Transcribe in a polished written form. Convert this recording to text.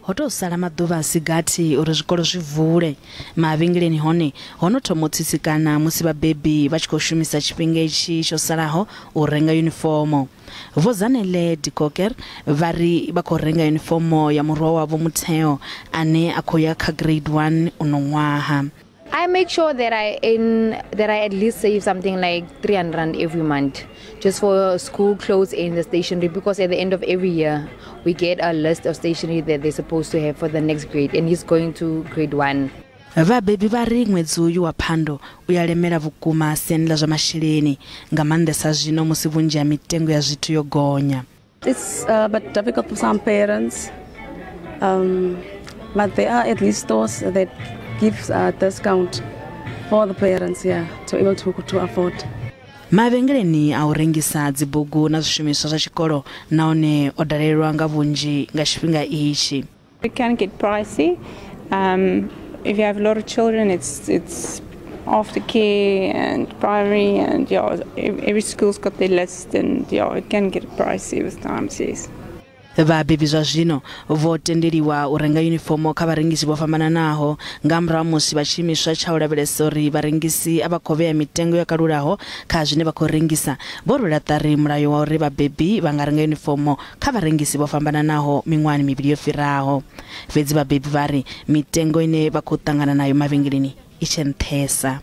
Ho tou sala maḓuvha a si gathi uri zwikolo zwi vule. Mavhengeleni hone ho no thoma u tsitsikana musi vhabebi vha tshi khou shumisa tshifhinga itshi tsho salaho u renga yunifomo. Vho Zanele de Koker vha ri vha khou renga yunifomo ya murwa wavho Mutheo ane a khou ya kha grade 1 uno ṅwaha. I make sure that I at least save something like 300 rand every month, just for school clothes and the stationery, because at the end of every year we get a list of stationery that they're supposed to have for the next grade, and he's going to grade 1. Vhabebi vha ri ṅwedzi uyu wa Phando u ya lemela vhukuma siani ḽa zwa masheleni, nga maanḓesa zwino musi vhunzhi ha mitengo ya zwithu yo gonya. It's a bit difficult for some parents, but there are at least stores that gives a discount for the parents, yeah, to able to afford. Mavhengeleni a u rengisa dzibugu na zwishumiswa zwa tshikolo nahone o dalelwa nga vhunzhi nga tshifhinga itshi. It can get pricey. If you have a lot of children, it's aftercare and primary, and yeah, every school's got their list, and yeah, it can get pricey with times, yes. Vhabebi zwa zwino vho tendeliwa u renga yunifomo kha vharengisi vho fhambananaho nga murahu musi vha tshiimiswa tsha u lavhelesa uri vharengisi a vha khou vhea mitengo yo kalulaho kha zwine vha khou rengisa. Vho rwela ṱari mulayo wa uri vhabebi vha nga renga yunifomo kha vharengisi vho fhambananaho miṅwahani mivhili yo fhiraho. Fhedzi vhabebi vha ri mitengo ine vha khou ṱangana nayo mavhengeleni i tshe nṱhesa.